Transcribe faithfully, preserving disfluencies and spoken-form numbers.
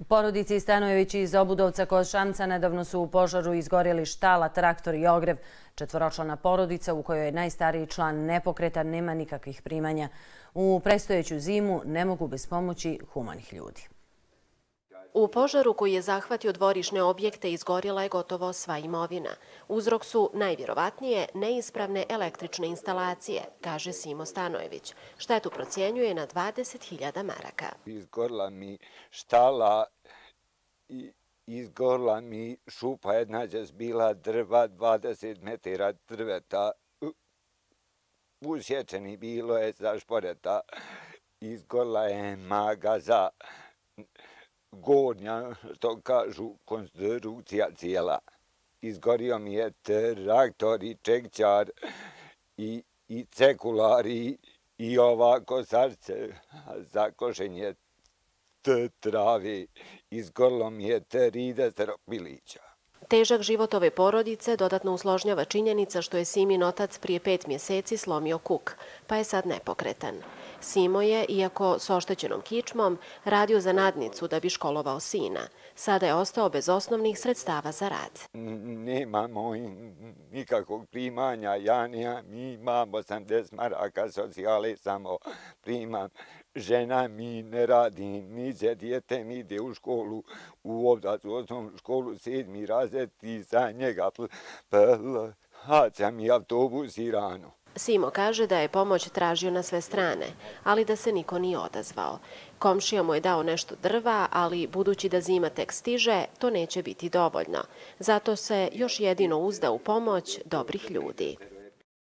U porodici Stanojević iz Obudovca kod Šamca nedavno su u požaru izgorjeli štala, traktor i ogrev. Četvoročlana porodica u kojoj je najstariji član nepokretan, nema nikakvih primanja. U predstojeću zimu ne mogu bez pomoći humanih ljudi. U požaru koji je zahvatio dvorišne objekte izgorjela je gotovo sva imovina. Uzrok su najvjerovatnije neispravne električne instalacije, kaže Simo Stanojević. Štetu procjenjuje na dvadeset hiljada maraka. Izgorila mi štala i izgorila mi šupa, jedna je bila drva, dvadeset metara drveta. Usječeni bilo je za šporeta. Izgorila je magaza. Gornja, što kažu, konstrukcija cijela. Izgorio mi je traktor i čekčar i, i cekular i, i ova kosačice za košenje travi. Izgorilo mi je trideset pilića. Težak život ove porodice dodatno usložnjava činjenica što je Simin otac prije pet mjeseci slomio kuk, pa je sad nepokretan. Simo je, iako s oštećenom kičmom, radio za nadnicu da bi školovao sina. Sada je ostao bez osnovnih sredstava za rad. Nemamo nikakvog primanja, ja nemam, mi imamo osamdeset maraka socijale, samo primam. Žena mi ne radi, niđe dijete mi ide u školu, u Obdovcu osnovnu školu, sedmi razred i za njega plaća mi autobus i rano. Simo kaže da je pomoć tražio na sve strane, ali da se niko nije odazvao. Komšija mu je dao nešto drva, ali budući da zima tek stiže, to neće biti dovoljno. Zato se još jedino uzda u pomoć dobrih ljudi.